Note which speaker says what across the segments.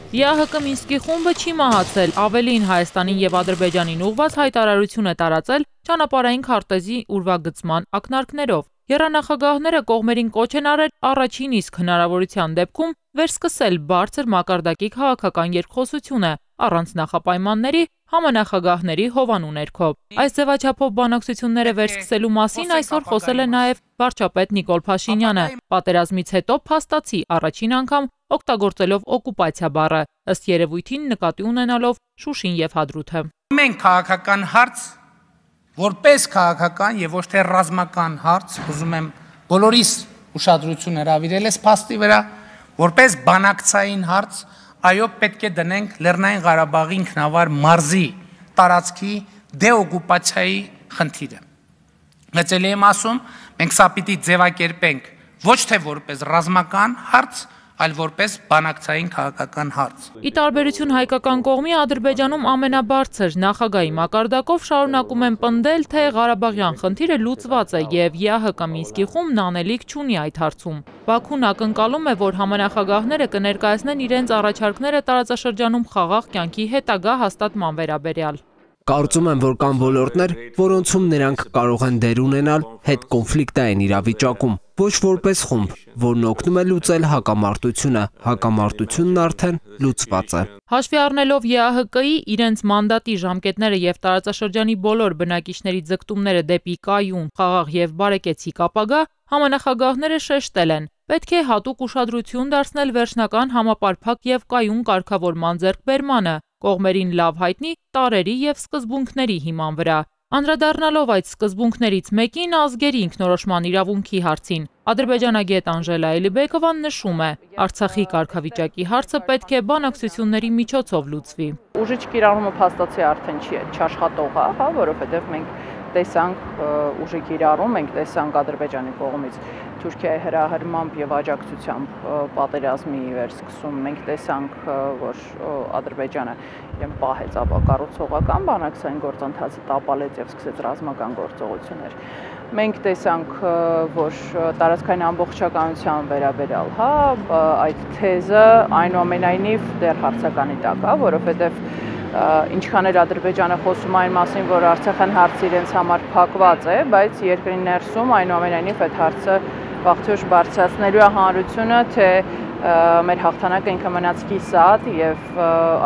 Speaker 1: ԵԱՀԿ Մինսկի խումբը չի մահացել, ավելին Հայաստանին եւ Ադրբեջանին ուղղված հայտարարություն է տարածել ճանապարհային քարտեզի ուրվագծման ակնարկներով։ Եռանախագահները կողմերին կոչ են արել առաջին իսկ հնարավորության դեպքում վերսկսել բարձր մակարդակի քաղաքական երկխոսությունը առանց նախապայմանների համանախագահների հովանու ներքո։ Այս ձևաչափով բանակցությունները վերսկսելու մասին այսօր խոսել է նաև վարչապետ Նիկոլ Փաշինյանը։ Պատերազմից հետո փաստացի առաջին անգամ օգտագործելով օկուպացիա բառը, ըստ երևույթին նկատի ունենալով Շուշին եւ Հադրութը։
Speaker 2: Մենք քաղաքական հարց, որպես քաղաքական եւ ոչ թե ռազմական հարց, ուզում եմ բոլորիս ուշադրություն հրավիրել այս փաստի վրա, որպես բանակցային հարց, այո, պետք է դնենք Լեռնային Ղարաբաղի ինքնավար մարզի տարածքի դեօկուպացիայի խնդիրը։ Մեծ էլի եմ ասում, մենք սա պիտի ձևակերպենք ոչ թե որպես ռազմական հարց, այլ որպես բանակցային քաղաքական հարց։
Speaker 1: Ի տարբերություն հայկական կողմի, Ադրբեջանում ամենաբարձր նախագահի մակարդակով շարունակում են պնդել, թե Ղարաբաղյան խնդիրը լուծված է եւ ԵԱՀԿ Մինսկի խումբն անելիք չունի այդ հարցում։ Բաքուն ակնկալում է, որ համանախագահները կներկայացնեն իրենց առաջարկները տարածաշրջանում խաղաղ կյանքի հետագա հաստատման վերաբերյալ։
Speaker 3: Կարծում եմ, որ կան ոլորտներ, որոնցում նրանք կարող են դեր ունենալ հետ կոնֆլիկտային իրավիճակում, ոչ որպես խումբ, որն օգնում է լուծել հակամարտությունը, հակամարտությունն արդեն լուծված է։
Speaker 1: Հաշվի առնելով ԵԱՀԿ-ի իրենց մանդատի ժամկետները եւ տարածաշրջանի բոլոր բնակիչների ձգտումները դեպի կայուն, խաղաղ եւ բարեկեցիկ ապագա, համանախագահները շեշտել են. պետք է հատուկ ուշադրություն դարձնել վերջնական համապարփակ եւ կայուն կարգավորման ձեռքբերմանը, կողմերին լավ հայտնի տարրերի եւ սկզբունքների հիման վրա։ Անդրադառնալով այդ սկզբունքներից մեկին ազգերի ինքնորոշման իրավունքի հարցին, ադրբեջանագետ Անժելա Էլիբեկովան նշում է. Արցախի կարգավիճակի հարցը պետք է բանակցությունների միջոցով լուծվի։
Speaker 4: Ուժի կիրառումը փաստացի արդեն չի աշխատող, որովհետև մենք տեսանք ուժի կիրառում, մենք տեսանք Ադրբեջանի կողմից Թուրքիայի հրահրմամբ եւ աջակցությամբ պատերազմի վերսկսում, մենք տեսանք, որ Ադրբեջանը պահեց ապակառուցողական բանակցային գործընթացը, տապալեց եւ սկսեց ռազմական գործողություններ։ Մենք տեսանք, որ տարածքային ամբողջականության վերաբերյալ, այդ թեզը այնուամենայնիվ դեռ հարցականի տակ է, որովհետեւ ինչքան էլ Ադրբեջանը խոսում այն մասին, որ Արցախյան հարցը իրենց համար փակված է, բայց երկրի ներսում այնուամենայնիվ այդ հարցը վաղթյուր բարձրացնելու է հանրությունը, թե մեր հաղթանակը ինքը մնաց կիսատ եւ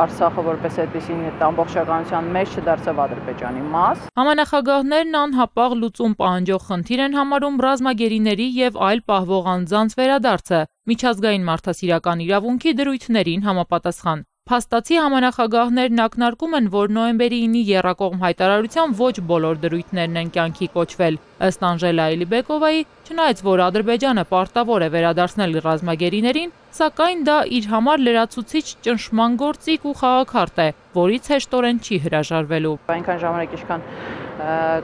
Speaker 4: Արցախը որպես այդպեսին ամբողջականության մեջ չդարձավ Ադրբեջանի մաս։
Speaker 1: Համանախագահներն անհապաղ լուծում պահանջող խնդիր են համարում ռազմագերիների եւ այլ պահվող անձանց վերադարձը միջազգային մարդասիրական իրավունքի դրույթներին համապատասխան։ Փաստացի համանախագահներն ակնարկում են, որ նոյեմբերի 9-ի եռակողմ հայտարարության ոչ բոլոր դրույթներն են կյանքի կոչվել։ Ըստ Անժելա Էլիբեկովայի, չնայած որ Ադրբեջանը պարտավոր է վերադարձնել ռազմագերիներին, սակայն դա իր համար լրացուցիչ ճնշման գործիք ու խաղաքարտ է, որից հեշտորեն չի հրաժարվելու։
Speaker 4: Այնքան ժամանակ ինչքան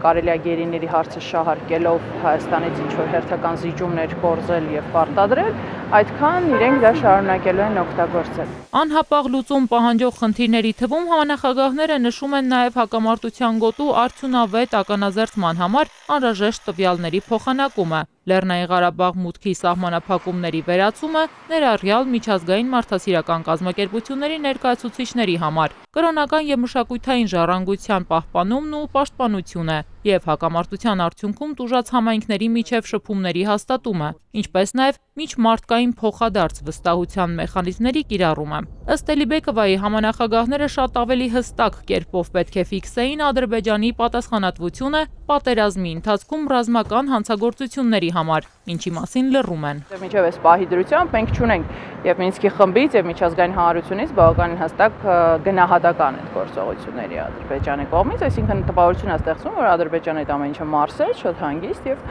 Speaker 4: կարելի է գերիների հարցը շահարկելով Հայաստանից ինչ-որ հերթական զիջումներ կորզել եւ պարտադրել, այդքան իրենք դա շարունակելու են օգտագործել։
Speaker 1: Անհապաղ լուծում պահանջող խնդիրների թվում համանախագահները նշում են նաև հակամարտության գոտու արդյունավետ ականազերծման համար անհրաժեշտ տվյալների փոխանակումը, Լեռնային Ղարաբաղ մուտքի սահմանափակումների վերացումը, ներառյալ միջազգային մարդասիրական կազմակերպությունների ներկայացուցիչների համար, կրոնական եւ մշակութային ժառանգության պահպանումն ու պաշտպանությունը եւ հակամարտության արդյունքում տուժած համայնքների միջև շփումների հաստատումը, ինչպես նաեւ միջմարտկային փոխադարձ վստահության մեխանիզմների կիրառումը։ Ըստ Էլիբեկովայի համանախագահները շատ ավելի հստակ կերպով պետք է ֆիքսեին Ադրբեջանի պատասխանատվությունը պատերազմի ընթացքում ռազմական հանցագործությունների համար, ինչի մասին լռում են։
Speaker 4: Մինչև այս պահի դրությամբ մենք չունենք եւ Մինսկի խմբից եւ միջազգային հանրությունից բավականին հստակ գնահատական այդ գործողությունների Ադրբեջանի կողմից, այսինքն տպավորություն է ստեղծվում, որ Ադրբեջանը այդ ամեն ինչը մարսեց, շատ հանգիստ եւ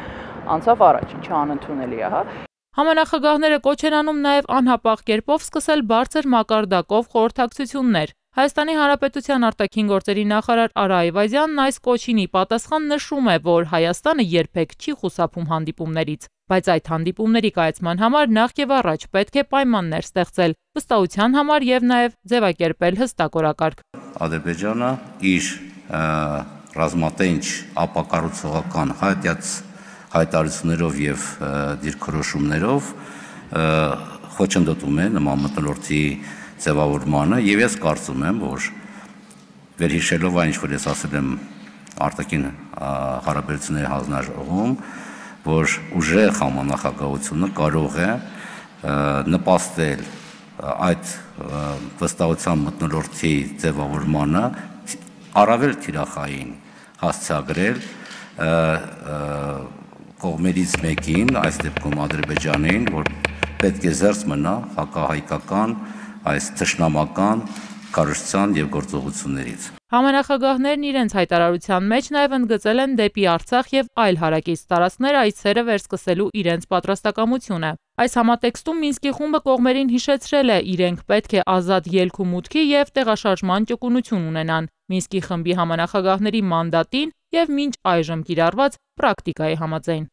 Speaker 4: անցավ առաջ, ինչը անընդունելի է,
Speaker 1: Համանախագահները կոչ են անում նաև անհապաղ կերպով սկսել բարձր մակարդակով խորհրդակցություններ։ Հայաստանի Հանրապետության արտաքին գործերի նախարար Արա Այվազյանն այս կոչին ի պատասխան նշում է, որ Հայաստանը երբեք չի խուսափում հանդիպումներից, բայց այդ հանդիպումների կայացման համար նախ եւ առաջ պետք է պայմաններ ստեղծել, վստահության համար եւ նաև ձևակերպել հստակ օրակարգ։
Speaker 5: Ադրբեջանը իր ռազմատենչ ապակառուցողական հայտարարություններով եւ դիրքորոշումներով խոչընդոտում է նման մթնոլորտի ձևավորմանը եւ ես կարծում եմ, որ վերհիշելով այն, ինչ որ ես ասել եմ արտաքին հարաբերությունների հանձնաժողովում, որ ուժեղ համանախագահությունը կարող է նպաստել այդ վստահության մթնոլորտի ձևավորմանը առավել թիրախային հասցեագրել կողմերից մեկին, այս դեպքում Ադրբեջանին, որ պետք է զերծ մնա հակահայկական, այս թշնամական քարոզչության եւ գործողություններից։
Speaker 1: Համանախագահներն իրենց հայտարարության մեջ նաև ընդգծել են դեպի Արցախ եւ այլ հարակից տարածքներ այցերը վերսկսելու իրենց պատրաստակամությունը։ Այս համատեքստում Մինսկի խումբը կողմերին հիշեցրել է, իրենք պետք է ազատ ելք ու մուտքի եւ տեղաշարժման ճկունություն ունենան Մինսկի խմբի համանախագահների մանդատին եւ մինչ այժմ կիրառված պրակտիկայի համաձայն։